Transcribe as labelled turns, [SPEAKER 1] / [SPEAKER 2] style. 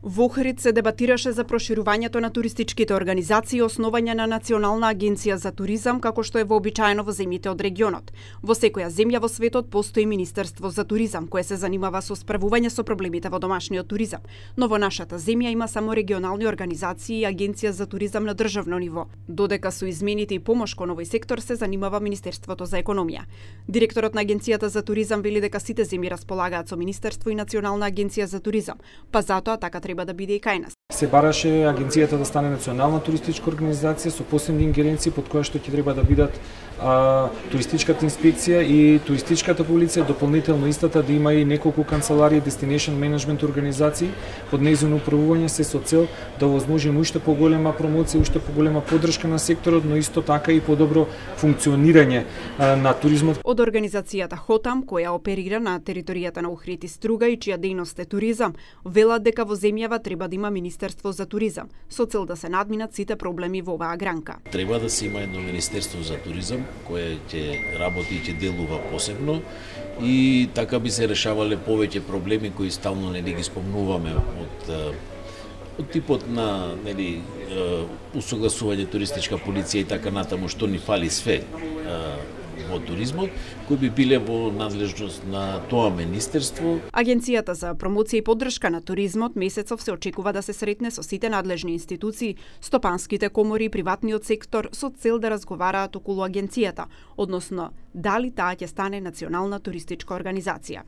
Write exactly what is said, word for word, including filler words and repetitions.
[SPEAKER 1] Во Охрид се дебатираше за проширувањето на туристичките организации и основање на Национална агенција за туризам, како што е вообичаено во земјите од регионот. Во секоја земја во светот постои Министерство за туризам, кое се занимава со справување со проблемите во домашниот туризам. Но во нашата земја има само регионални организации и агенција за туризам на државно ниво, додека со измените и помош кон овој сектор се занимава Министерството за економија. Директорот на Агенцијата за туризам вели дека сите земји располагаат со Министерство и Национална агенција за туризам, па затоа така треба да биде и кај нас.
[SPEAKER 2] Се бараше агенцијата да стане национална туристичка организација со посебни ингеренции под која што ќе треба да бидат а, туристичката инспекција и туристичката полиција, дополнително истата да има и неколку канцеларии, destination management организации под нејзино управување, се со цел да овозможиме уште поголема промоција, уште поголема поддршка на секторот, но исто така и подобро функционирање а, на туризмот.
[SPEAKER 1] Од организацијата Хотам, која оперира на територијата на Охрид и Струга и чија дејност е туризам, велат дека во земјава треба да има Министерство за туризам, со цел да се надминат сите проблеми во оваа гранка.
[SPEAKER 3] Треба да се има едно Министерство за туризам, кое ќе работи и ќе делува посебно и така би се решавале повеќе проблеми кои стално не ги спомнуваме од од типот на нели усогласување туристичка полиција и така натаму, што ни фали све во туризмот, кои би биле во надлежност на тоа министерство.
[SPEAKER 1] Агенцијата за промоција и поддршка на туризмот месецов се очекува да се сретне со сите надлежни институции, стопанските комори и приватниот сектор со цел да разговараат околу агенцијата, односно дали таа ќе стане национална туристичка организација.